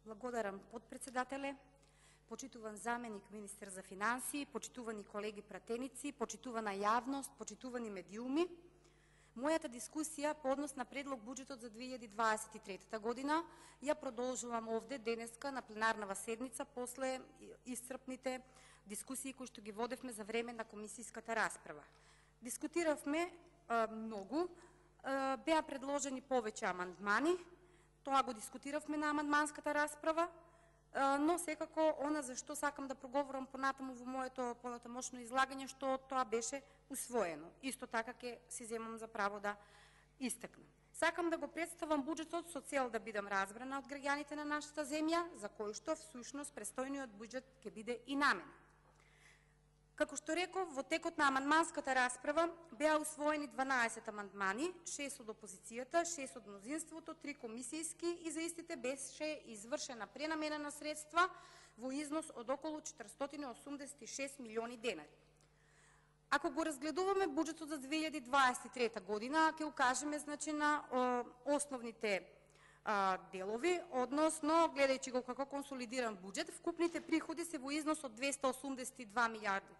Благодарам, подпредседателе, почитуван заменик министер за финансии, почитувани колеги пратеници, почитувана јавност, почитувани медиуми. Мојата дискусија по однос на предлог буџетот за 2023 година ја продолжувам овде денеска на пленарнава седница после исцрпните дискусии кои што ги водевме за време на комисиската расправа. Дискутиравме многу, беа предложени повеќе амандмани, тоа го дискутиравме на амандманската расправа, но секако она за што сакам да проговорам понатаму во моето понатамошно излагање, што тоа беше усвоено. Исто така ќе си земам за право да истакнам. Сакам да го представам буџетот со цел да бидам разбрана од граѓаните на нашата земја, за кои што всушност престојниот буџет ќе биде и намен. Како што реков, во текот на амандманската расправа беа усвоени 12 амандмани, 6 од опозицијата, 6 од мнозинството, 3 комисијски и за истите беше извршена пренамена на средства во износ од околу 486 милиони денари. Ако го разгледуваме буџетот за 2023 година, ќе укажеме значи на основните делови, односно, гледајќи го како консолидиран буџет, вкупните приходи се во износ од 282 милиарди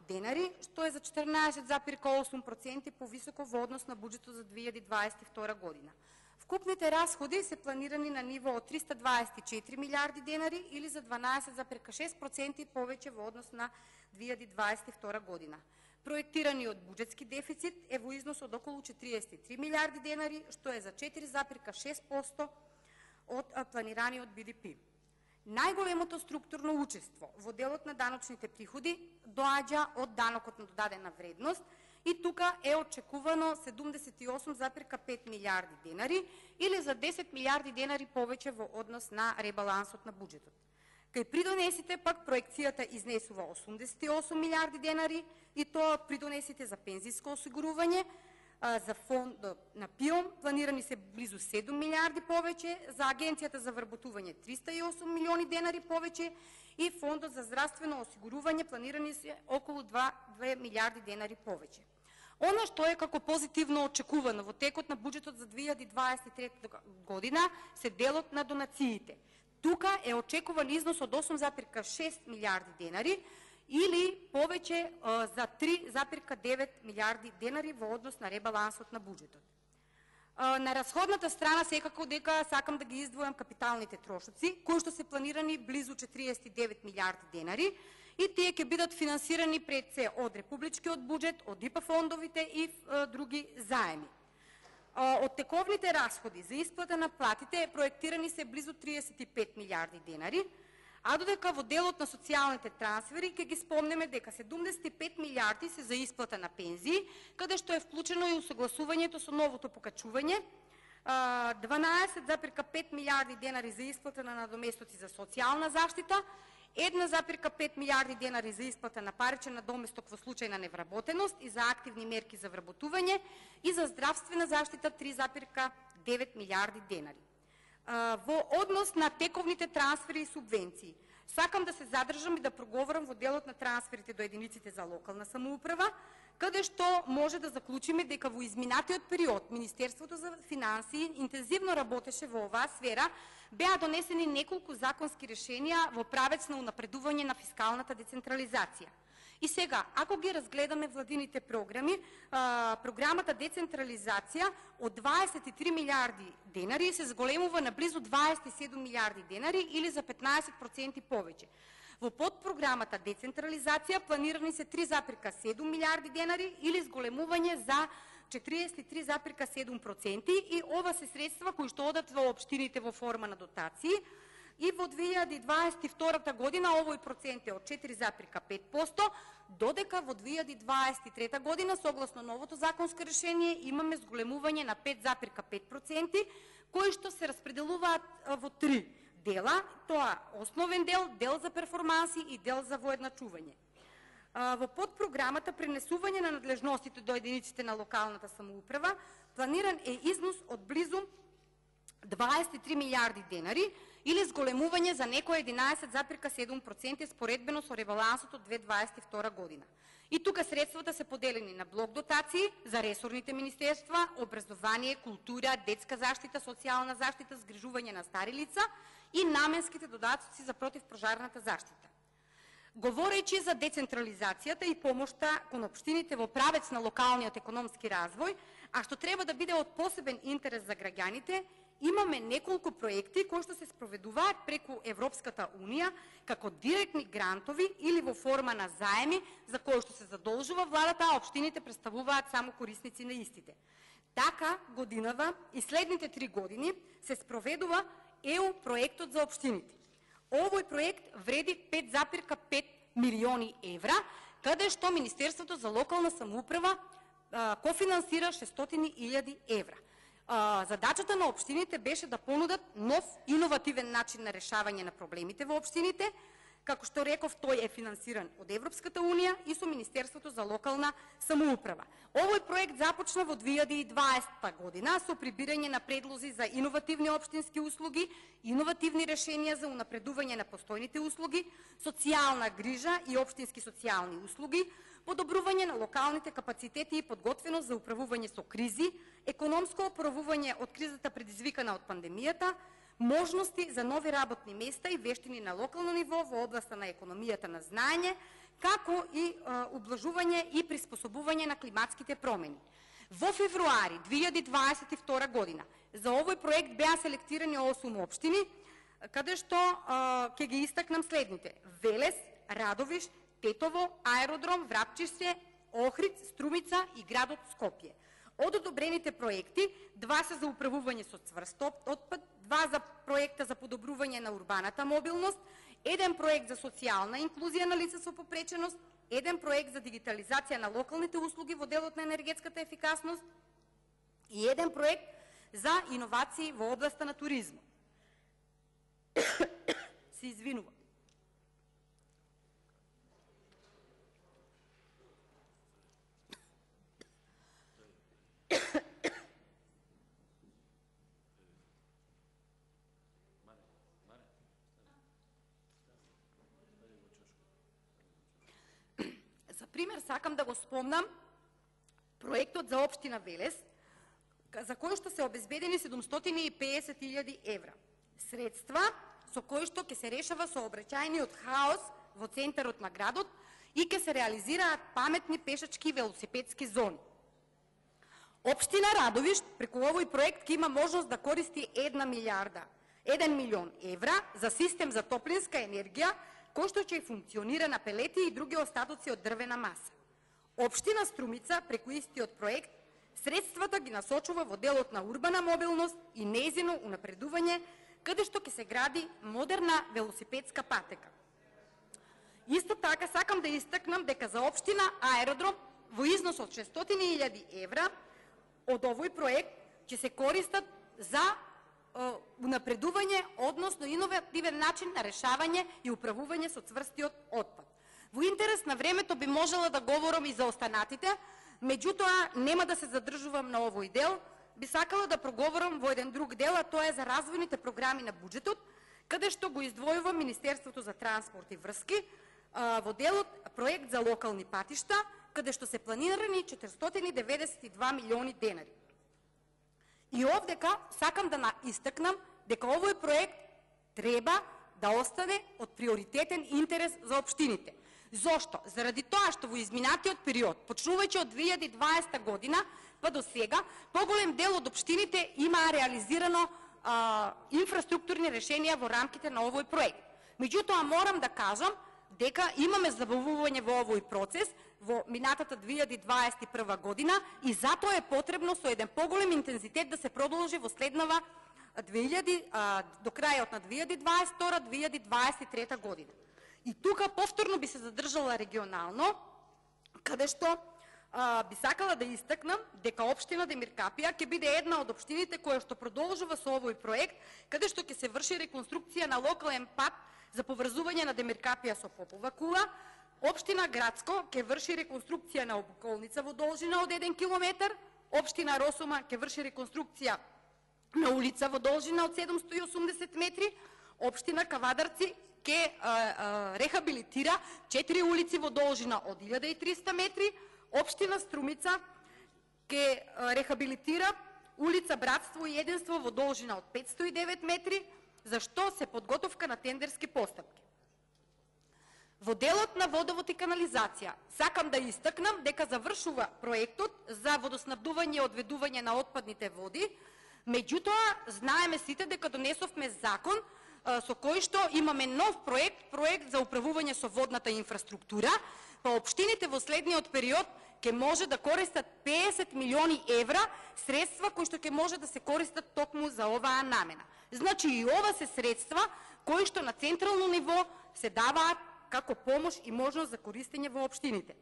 денари, што е за 14,8% повисоко во однос на буџетот за 2022 година. Вкупните расходи се планирани на ниво од 324 милиарди денари или за 12,6% повеќе во однос на 2022 година. Проектираниот буџетски дефицит е во износ од околу 43 милиарди денари, што е за 4,6% од планираниот БДП. Најголемото структурно учество во делот на даночните приходи доаѓа од данокот на додадена вредност и тука е очекувано 78,5 милиарди денари или за 10 милиарди денари повеќе во однос на ребалансот на буџетот. Кај придонесите пак проекцијата изнесува 88 милиарди денари и тоа од придонесите за пензиско осигурување, за фонд на ПИОМ планирани се близу 7 милиарди повеќе, за Агенцијата за вработување 308 милиони денари повеќе и фондот за здравствено осигурување планирани се околу 2 милиарди денари повеќе. Она што е како позитивно очекувано во текот на буџетот за 2023 година се делот на донациите. Тука е очекуван износ од 8,6 милиарди денари или повеќе за 3,9 милиарди денари во однос на ребалансот на буџетот. На расходната страна секако дека сакам да ги издвојам капиталните трошоци, кои што се планирани близу 49 милиарди денари и тие ќе бидат финансирани пред се од републичкиот буџет, од ИПА фондовите и други заеми. Од тековните расходи за исплата на платите проектирани се близу 35 милиарди денари, а додека во делот на социјалните трансфери ќе ги спомнеме дека 75 милиарди се за исплата на пензии, каде што е вклучено и усогласувањето со новото покачување, 12,5 милиарди денари за исплата на надоместоци за социјална заштита, 1,5 милиарди денари за исплата на паричен надоместок во случај на невработеност и за активни мерки за вработување и за здравствена заштита 3,9 милиарди денари. Во однос на тековните трансфери и субвенции, сакам да се задржам и да проговорам во делот на трансферите до единиците за локална самоуправа, каде што може да заклучиме дека во изминатиот период Министерството за финансии интензивно работеше во оваа сфера, беа донесени неколку законски решенија во правец на унапредување на фискалната децентрализација. И сега, ако ги разгледаме владините програми, програмата децентрализација од 23 милиарди денари се зголемува на близу 27 милиарди денари или за 15% повеќе. Во подпрограмата децентрализација планирани се 3,7 милиарди денари или зголемување за 43,7% и ова се средства кои што одат во општините во форма на дотации. И во 2022 година овој процент е од 4,5%, додека во 2023 година, согласно новото законско решение, имаме зголемување на 5,5%, кои што се распределуваат во 3 дела, тоа основен дел, дел за перформанси и дел за воедначување. Во подпрограмата пренесување на надлежностите до единиците на локалната самоуправа планиран е износ од близу 23 милиарди денари или зголемување за некој 11,7% споредбено со ребалансот од 2022 година. И тука средствата се поделени на блок дотации за ресорните министерства, образование, култура, детска заштита, социјална заштита, згрижување на стари лица и наменските додатоци за противпожарната заштита. Говорејќи за децентрализацијата и помошта кон општините во правец на локалниот економски развој, а што треба да биде од посебен интерес за граѓаните, имаме неколку проекти кои што се спроведуваат преку Европската Унија како директни грантови или во форма на заеми за кои што се задолжува владата, а општините представуваат само корисници на истите. Така годинава и следните 3 години се спроведува ЕУ проектот за општините. Овој проект вреди 5,5 милиони евра, каде што Министерството за локална самоуправа кофинансира 600.000 евра. Задачата на општините беше да понудат нов, иновативен начин на решавање на проблемите во општините. Како што реков, тој е финансиран од Европската Унија и со Министерството за локална самоуправа. Овој проект започна во 2020 година со прибирање на предлози за иновативни општински услуги, иновативни решенија за унапредување на постојните услуги, социјална грижа и општински социјални услуги, подобрување на локалните капацитети и подготвеност за управување со кризи, економско оправување од кризата предизвикана од пандемијата, можности за нови работни места и вештини на локално ниво во областа на економијата на знаење, како и ублажување и приспособување на климатските промени. Во февруари 2022 година за овој проект беа селектирани 8 општини, каде што ќе ги истакнам следните: Велес, Радовиш, Тетово, Аеродром, Врапчище, Охрид, Струмица и градот Скопје. Од одобрените проекти, 2 се за управување со цврст отпад, 2 за проекта за подобрување на урбаната мобилност, 1 проект за социјална инклузија на лица со попреченост, 1 проект за дигитализација на локалните услуги во делот на енергетската ефикасност и 1 проект за иновации во областа на туризмот. Се извинувам. За пример сакам да го спомнам проектот за општина Велес, за кој што се обезбедени 750.000 евра. Средства со кои што ќе се решава сообраќајниот хаос во центарот на градот и ќе се реализираат паметни пешачки и велосипедски зони. Општина Радовиш преку овој проект ќе има можност да користи 1 милион евра за систем за топлинска енергија, кој што ќе функционира на пелети и други остатоци од дрвена маса. Општина Струмица преку истиот проект средствата ги насочува во делот на урбана мобилност и нејзино унапредување, каде што ќе се гради модерна велосипедска патека. Исто така сакам да истакнам дека за општина Аеродром во износ од 600.000 евра од овој проект ќе се користат за унапредување, односно иновативен начин на решавање и управување со цврстиот отпад. Во интерес на времето би можела да говорам и за останатите, меѓутоа нема да се задржувам на овој дел. Би сакала да проговорам во еден друг дел, а тоа е за развојните програми на буџетот, каде што го издвојува Министерството за транспорт и врски во делот проект за локални патишта, каде што се планирани 492 милиони денари. И овдека сакам да истакнам дека овој проект треба да остане од приоритетен интерес за општините. Зошто? Заради тоа што во изминатиот период, почнувајќи од 2020 година па до сега, поголем дел од општините имаа реализирано инфраструктурни решенија во рамките на овој проект. Меѓутоа морам да кажам дека имаме забавување во овој процес во минатата 2021 година и затоа е потребно со еден поголем интензитет да се продолжи во следнава до крајот на 2022-2023 година. И тука повторно би се задржала регионално, каде што би сакала да истакнам дека општина Демиркапија ќе биде една од општините која што продолжува со овој проект, каде што ќе се врши реконструкција на локален пат за поврзување на Демиркапија со Попова кула. Општина Градско ќе врши реконструкција на обиколница во должина од 1 километар, општина Росума ќе врши реконструкција на улица во должина од 780 метри, Општина Кавадарци ќе рехабилитира 4 улици во должина од 1300 метри, општина Струмица ќе рехабилитира улица Братство и единство во должина од 509 метри, за што се подготовка на тендерски постапки. Во делот на водовод и канализација, сакам да истакнам дека завршува проектот за водоснабдување и одведување на отпадните води, меѓутоа знаеме сите дека донесовме закон со кој што имаме нов проект за управување со водната инфраструктура, па општините во следниот период ќе може да користат 50 милиони евра средства кои што ќе може да се користат токму за оваа намена. Значи и ова се средства кои што на централно ниво се даваат како помош и можност за користење во општините.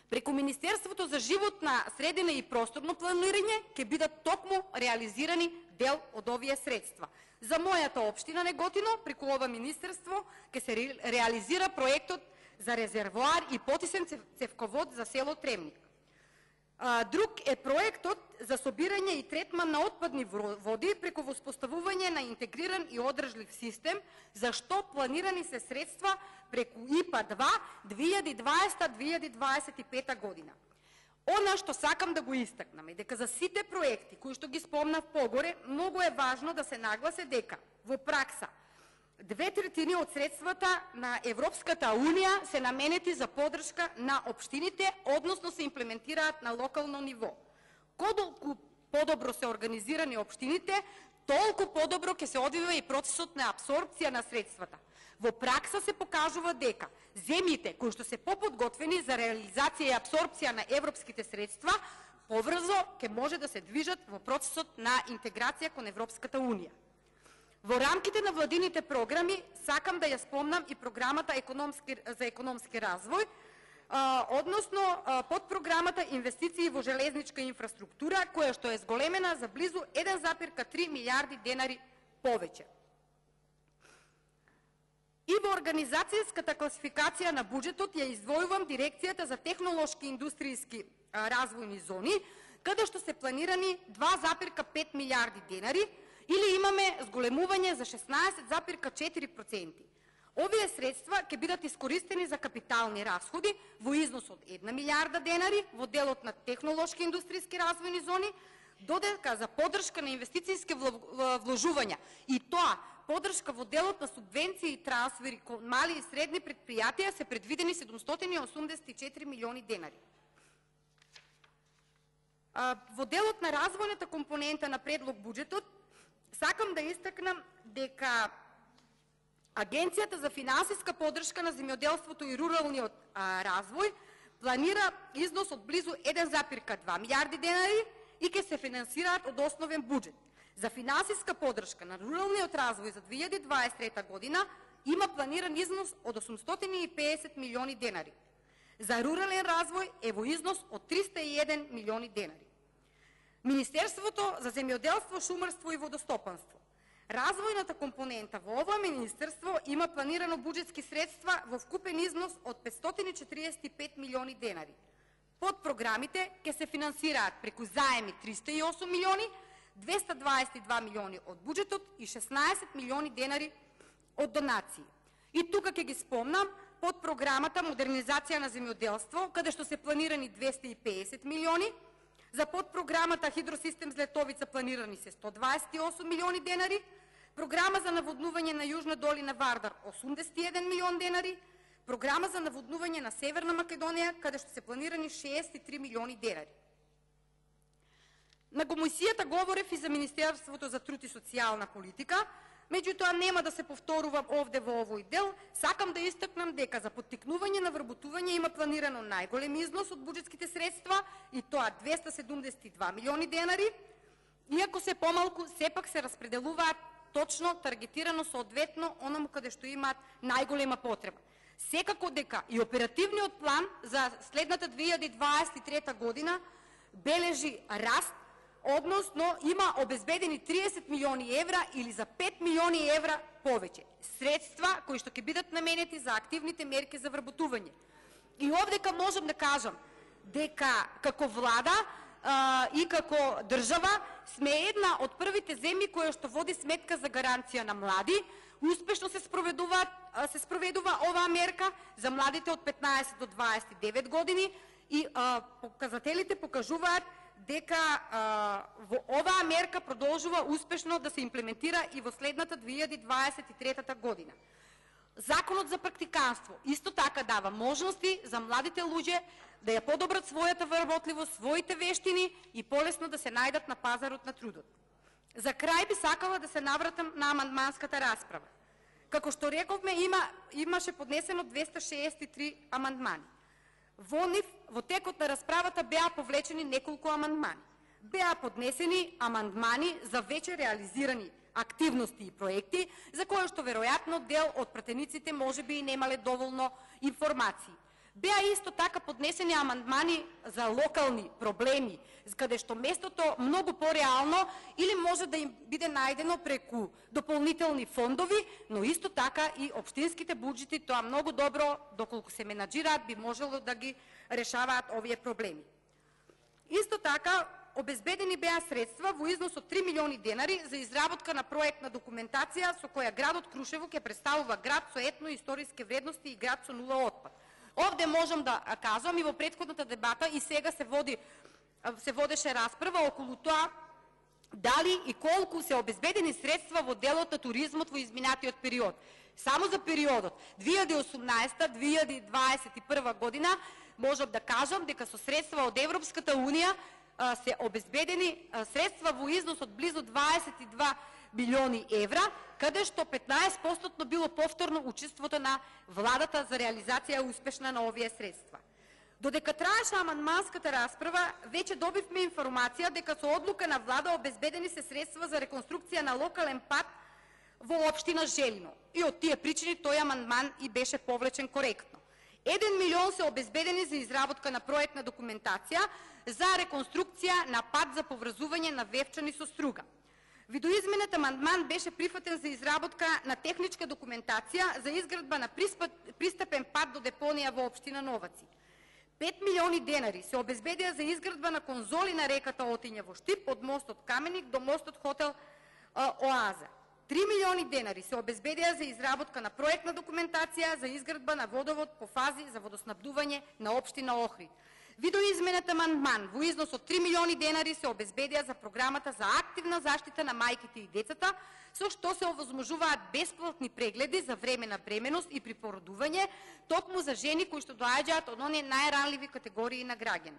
Преку Министерството за животна средина и просторно планирање ќе бидат токму реализирани дел од овие средства. За мојата општина Неготино, преку ова министерство, ќе се реализира проектот за резервоар и потисен цевковод за село Тремник. Друг е проектот за собирање и третман на отпадни води преку воспоставување на интегриран и одржлив систем, за што планирани се средства преку ИПА-2 2020-2025 година. Она што сакам да го истакнам е дека за сите проекти кои што ги спомнав погоре, многу е важно да се нагласе дека во пракса 2/3 од средствата на Европската Унија се наменети за поддршка на општините, односно се имплементираат на локално ниво. Колку подобро се организирани општините, толку подобро ќе се одвива и процесот на апсорбција на средствата. Во пракса се покажува дека земјите кои што се поподготвени за реализација и апсорбција на европските средства, поврзо ќе може да се движат во процесот на интеграција кон Европската Унија. Во рамките на владините програми сакам да ја спомнам и програмата за економски развој, односно подпрограмата инвестиции во железничка инфраструктура, која што е зголемена за близу 1,3 милиарди денари повеќе. И во организацијската класификација на буџетот ја издвојувам дирекцијата за технолошки и индустријски развојни зони, каде што се планирани 2,5 милиарди денари, или имаме зголемување за 16,4%. Овие средства ќе бидат искористени за капитални расходи во износ од 1 милиарда денари во делот на технолошки и индустријски развојни зони, додека за поддршка на инвестицијски вложувања и тоа поддршка во делот на субвенции и трансфери кон мали и средни предпријатија се предвидени 784 милиони денари. Во делот на развојната компонента на предлог буџетот, сакам да истакнам дека Агенцијата за финансиска поддршка на земјоделството и руралниот развој планира износ од близу 1,2 милиарди денари и ќе се финансираат од основен буџет. За финансиска поддршка на руралниот развој за 2023 година има планиран износ од 850 милиони денари. За рурален развој е во износ од 301 милиони денари. Министерството за земјоделство, шумарство и водостопанство. Развојната компонента во ова министерство има планирано буџетски средства во вкупен износ од 545 милиони денари. Под програмите ќе се финансираат преку заеми 308 милиони, 222 милиони од буџетот и 16 милиони денари од донации. И тука ќе ги спомнам под програмата Модернизација на земјоделство, каде што се планирани 250 милиони, за подпрограмата Хидросистем Злетовица планирани се 128 милиони денари, програма за наводнување на Јужна долина Вардар 81 милион денари, програма за наводнување на Северна Македонија, каде што се планирани 63 милиони денари. На комисијата говорев и за Министерството за труд и социјална политика, меѓутоа нема да се повторувам овде во овој дел, сакам да истакнам дека за поттикнување на вработување има планирано најголем износ од буџетските средства и тоа 272 милиони денари, иако се помалку, сепак се распределуваат точно, таргетирано, соодветно, онаму каде што имаат најголема потреба. Секако дека и оперативниот план за следната 2023 година бележи раст, односно има обезбедени 30 милиони евра или за 5 милиони евра повеќе. Средства кои што ќе бидат наменети за активните мерки за вработување. И овдека можам да кажам дека како влада и како држава сме една од првите земји која што води сметка за гаранција на млади. Успешно се спроведува оваа мерка за младите од 15 до 29 години и показателите покажуваат дека во оваа мерка продолжува успешно да се имплементира и во следната 2023 година. Законот за практиканство исто така дава можности за младите луѓе да ја подобрат својата вработливост, своите вештини и полесно да се најдат на пазарот на трудот. За крај би сакала да се навратам на амандманската расправа. Како што рековме, имаше поднесено 263 амандмани. Во нив, во текот на расправата беа повлечени неколку амандмани. Беа поднесени амандмани за веќе реализирани активности и проекти, за кои што веројатно дел од пратениците можеби и немале доволно информации. Беа исто така поднесени амандмани за локални проблеми, каде што местото многу пореално или може да им биде најдено преку дополнителни фондови, но исто така и општинските буџети тоа многу добро, доколку се менаџираат, би можело да ги решаваат овие проблеми. Исто така, обезбедени беа средства во износ од 3 милиони денари за изработка на проектна документација со која градот Крушево ќе представува град со етно-историски вредности и град со нула отпад. Овде можам да кажам и во претходната дебата и сега се водеше расправа околу тоа дали и колку се обезбедени средства во делот на туризмот во изминатиот период. Само за периодот 2018-2021 година можам да кажам дека со средства од Европската Унија се обезбедени средства во износ од близу 22 милиони евра, каде што 15% било повторно учеството на владата за реализација успешна на овие средства. Додека траеше амандманската расправа, веќе добивме информација дека со одлука на влада обезбедени се средства за реконструкција на локален пат во општина Желино. И од тие причини тој амандман и беше повлечен коректно. 1 милион се обезбедени за изработка на проектна документација за реконструкција на пат за поврзување на Вевчани со Струга. Видоизменет амандман беше прифатен за изработка на техничка документација за изградба на пристапен пат до депонија во општина Новаци. 5 милиони денари се обезбедија за изградба на конзоли на реката Отиња во Штип од мостот Каменик до мостот Хотел Оаза. 3 милиони денари се обезбедија за изработка на проектна документација за изградба на водовод по фази за водоснабдување на општина Охрид. Видоизменет амандман во износ од 3 милиони денари се обезбедија за програмата за активна заштита на мајките и децата, со што се овозможуваат бесплатни прегледи за време на бременост и при породување, токму за жени кои што доаѓаат од оние најранливи категории на граѓани.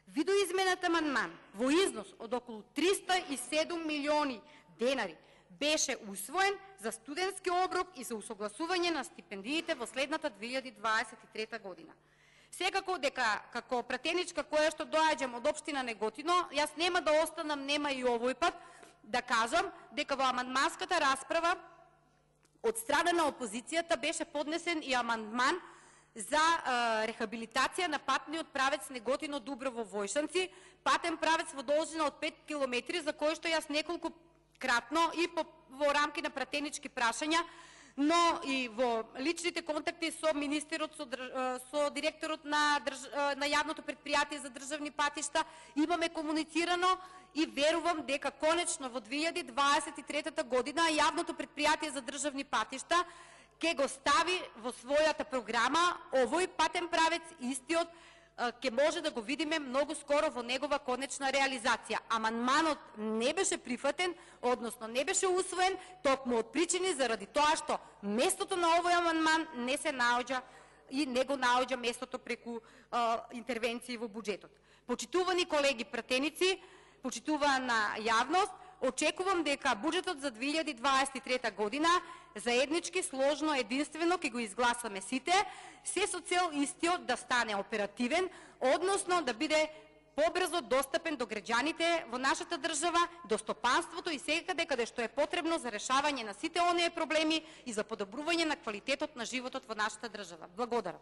Видоизменет амандман во износ од околу 307 милиони денари беше усвоен за студентски оброк и за усогласување на стипендиите во следната 2023 година. Секако дека како пратеничка која што доаѓам од општина Неготино, јас нема да останам нема и овој пат да кажам дека во амандманската расправа од страна на опозицијата беше поднесен и амандман за рехабилитација на патниот правец Неготино Дуброво Војшанци, патен правец во должина од 5 километри, за кој што јас неколку кратно и во рамки на пратенички прашања, но и во личните контакти со министерот, со директорот на јавното предпријатие за државни патишта имаме комуницирано и верувам дека конечно во 2023 година јавното предпријатие за државни патишта ќе го стави во својата програма овој патен правец, истиот ќе може да го видиме многу скоро во негова конечна реализација. Амандманот не беше прифатен, односно не беше усвоен, токму од причини заради тоа што местото на овој амандман не се наоѓа и не го наоѓа местото преку интервенции во буџетот. Почитувани колеги пратеници, почитувана јавност, очекувам дека буџетот за 2023 година заеднички, сложно, единствено ќе го изгласаме сите, се со цел истиот да стане оперативен, односно да биде побрзо достапен до граѓаните во нашата држава, до стопанството и секаде каде што е потребно за решавање на сите оние проблеми и за подобрување на квалитетот на животот во нашата држава. Благодарам.